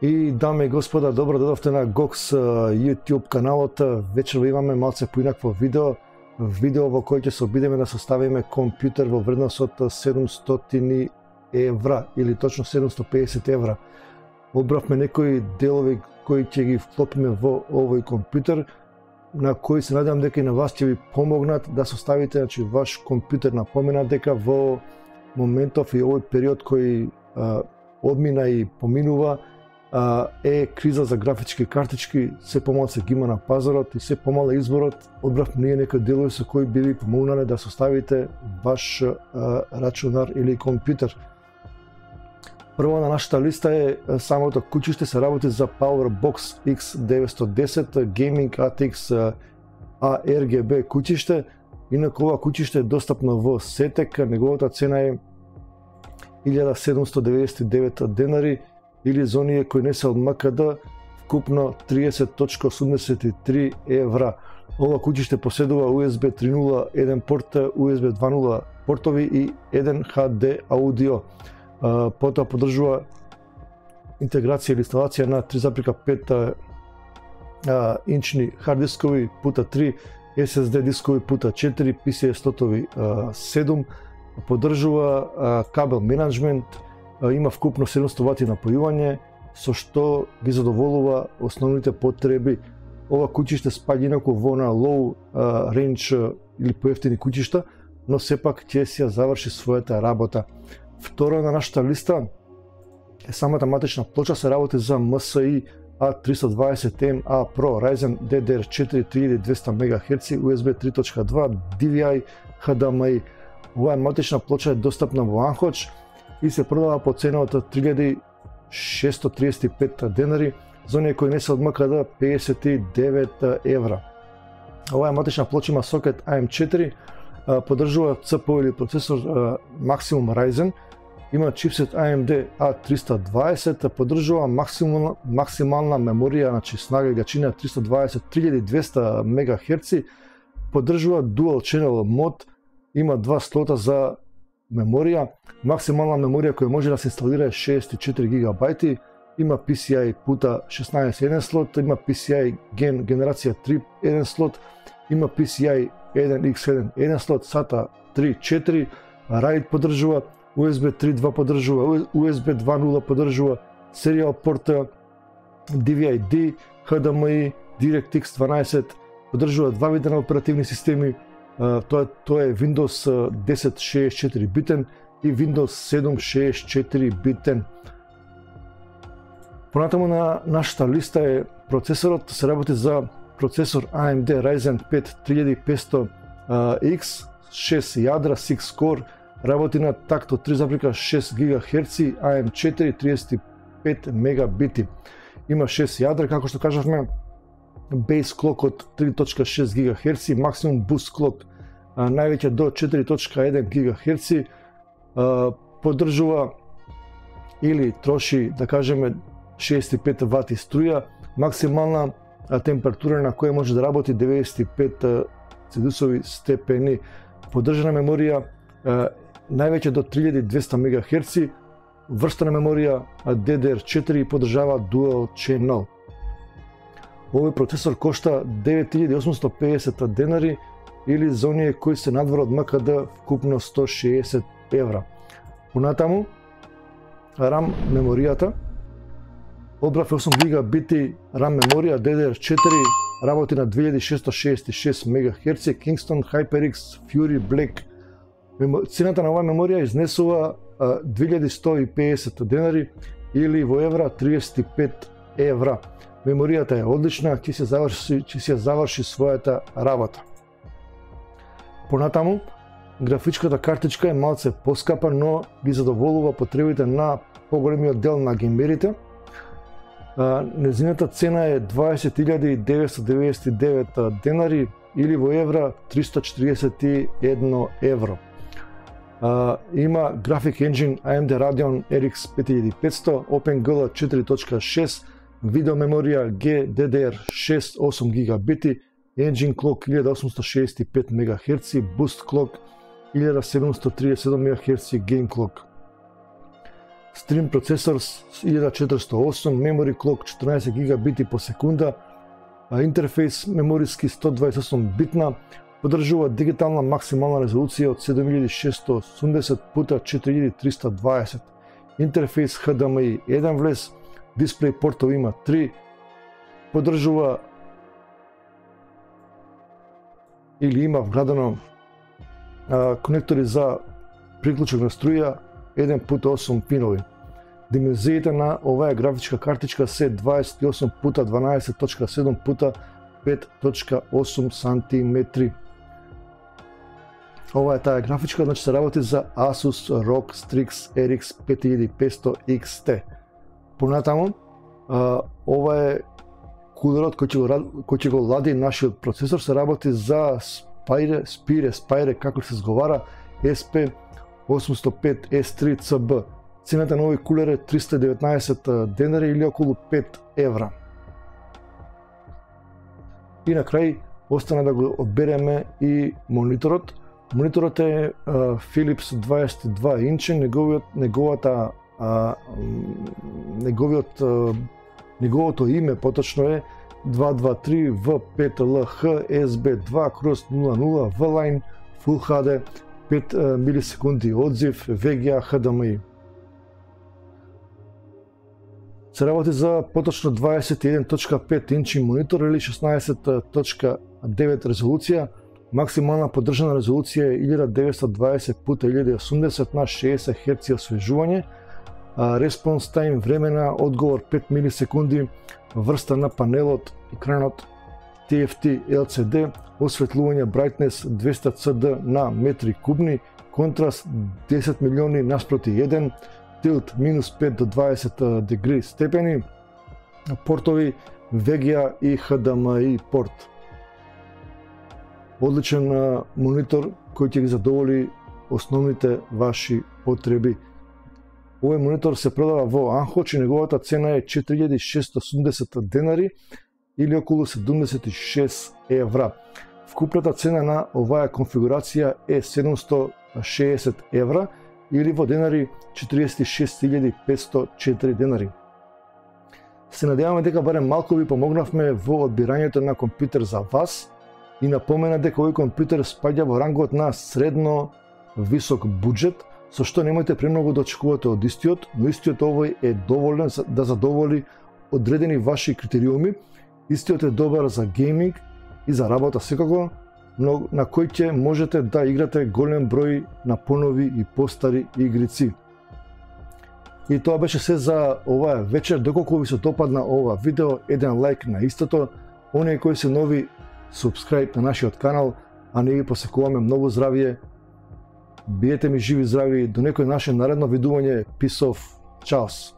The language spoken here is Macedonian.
И даме и господа, добро дојдовте на GOX YouTube каналот. Вечерва имаме малце поинакво видео во кој ќе се обидеме да составиме компјутер во вредност од 700 евра или точно 750 евра. Обравме некои делови кои ќе ги вклопиме во овој компјутер, на кои се надевам дека и на вас ќе ви помогнат да составите ваш компјутер. Напомена дека во моментов и овој период кој одмина и поминува е криза за графички картички, се помало се ги има на пазарот и се помало изборот. Одбравме ние некои делови со кои би ви помогнале да составите ваш рачунар или компјутер. Прво на нашата листа е самото кучиште, се работи за PowerBox X910 Gaming ATX ARGB кучиште. Инаку ова кучиште е достапно во Сетек, неговата цена е 1799 денари или за оние кои не се од МКД вкупно 30.83 евра. Ова кучиште поседува USB 3.0 1 порт, USB 2.0 портови и 1 HD аудио. Потоа поддржува интеграција или инсталација на 3.5 инчни хард дискови пута 3, SSD дискови пута 4, PCIe слотови 7, поддржува кабел менеджмент, има вкупно 700 вати напојување, со што ги задоволува основните потреби. Ова кучиште спаѓа инаку во на low range или поевтини кучишта, но сепак ќе си ја заврши својата работа. Второ на нашата листа е самата матична плоча, се работи за MSI A320MA Pro Ryzen DDR4 3200 MHz USB 3.2 DVI HDMI. Оваа матична плоча е достапна во Анхоч и се продава по цена од 3635 денари, за оние кои не се од МКД 59 евра. Оваа матична плоча има сокет AM4, поддржува CPU или процесор Maximum Ryzen, има чипсет AMD A320, поддржува максимална меморија, значи снага и гачина 3200 MHz, поддржува Dual Channel мод, има два слота за меморија, максимална меморија која може да се инсталира е 64 GB, има PCI пута 16 1 слот, има PCI генерација 3 1 слот, има PCI 1x1 1 слот, SATA 3 4, RAID поддржува, USB 3.2 поддржува, USB 2.0 поддржува, Serial порта, DVI-D, HDMI, DirectX 12, поддржува два вида на оперативни системи, тоа е Windows 10 64 битен и Windows 7 64 битен. Понатаму на нашата листа е процесорот, се работи за процесор AMD Ryzen 5 3500X, 6 јадра, 6 core, работи на такт од 3.6 GHz, AM4 35 мегабити. Има 6 јадра, како што кажавме, base clock од 3.6 GHz, максимум boost clock највеќе до 4.1 GHz, поддржува или троши, да кажеме, 65 вати струја, максимална температура на која може да работи 95 цедусови степени, поддржана меморија највеќе до 3200 MHz, врста на меморија DDR4 поддржава Dual Channel. Овој процесор кошта 9850 денари или за оние кои се надвор од МКД вкупно 160 евра. Понатаму, RAM меморијата, одбрав 8 гигабити RAM меморија DDR4, работи на 2666 MHz, Kingston HyperX Fury Black. Цената на оваа меморија изнесува 2150 денари или во евра 35 евра. Меморијата е одлична, ќе се заврши својата работа. Понатаму, графичката картичка е малце поскапа, но ги задоволува потребите на поголемиот дел на геймерите. Незината цена е 20.999 денари или во евра 341 евро. Има Graphic Engine AMD Radeon RX 5500, OpenGL 4.6, видео меморија GDDR6 8 гигабити, Engine Clock 1865 MHz, Boost Clock 1737 MHz, Game Clock. Stream процесор 1408, memory clock 14 гигабити по секунда, интерфейс мемориски 128 битна, поддржува дигитална максимална резолуција од 7680 пута 4320, интерфейс HDMI 1 влез, дисплеј портови има 3, поддржува или има вградено конектори за приклучок на струја 1x8 пинови. Димензиите на оваа графичка картичка се 28 пута 12.7 пута 5.8 сантиметри. Ова е таа графичка, значи се работи за Asus ROG Strix RX 5500 XT. Понатаму, ова е кулерот кој ќе го лади нашиот процесор, се работи за Spire, како се изговара, SP805S3CB. Цената на овој кулер е 319 денари или околу 5 евра. И на крај остана да го одбереме и мониторот. Мониторот е Philips 22 инчи, неговото име поточно е 223V5LH SB2x00 V-Line Full HD 5 милисекунди одзив VGA HDMI. Се работи за поточно 21.5 инчи монитор или 16.9 резолуција. Максимална поддржана резолуција е 1920 пута 1080 на 60 Hz освежување. Response time, време на одговор 5 милисекунди, врста на панелот, екранот TFT LCD, осветлување brightness 200 CD на метри кубни, контраст 10 милиони наспроти 1, tilt -5 до 20 дегри степени, портови VGA и HDMI порт. Одличен монитор кој ќе ги задоволи основните ваши потреби. Овој монитор се продава во Анхоч и неговата цена е 4680 денари или околу 76 евра. Вкупната цена на оваа конфигурација е 760 евра или во денари 46504 денари. Се надеваме дека барем малку ви помогнавме во одбирањето на компјутер за вас и напомена дека овој компјутер спаѓа во рангот на средно висок буџет, со што немојте премногу да очекувате од истиот, но истиот овој е доволен да задоволи одредени ваши критериуми. Истиот е добар за гейминг и за работа секако, но на кој ќе можете да играте голем број на понови и постари игрици. И тоа беше се за оваа вечер. Доколку ви се допадна ова видео, еден лайк на истото. Оние кои се нови, субскрайб на нашиот канал, а ние ви посекуваме многу здравје. Биете ми живи здрави, до некој наше наредно видување. Peace off. Чаос.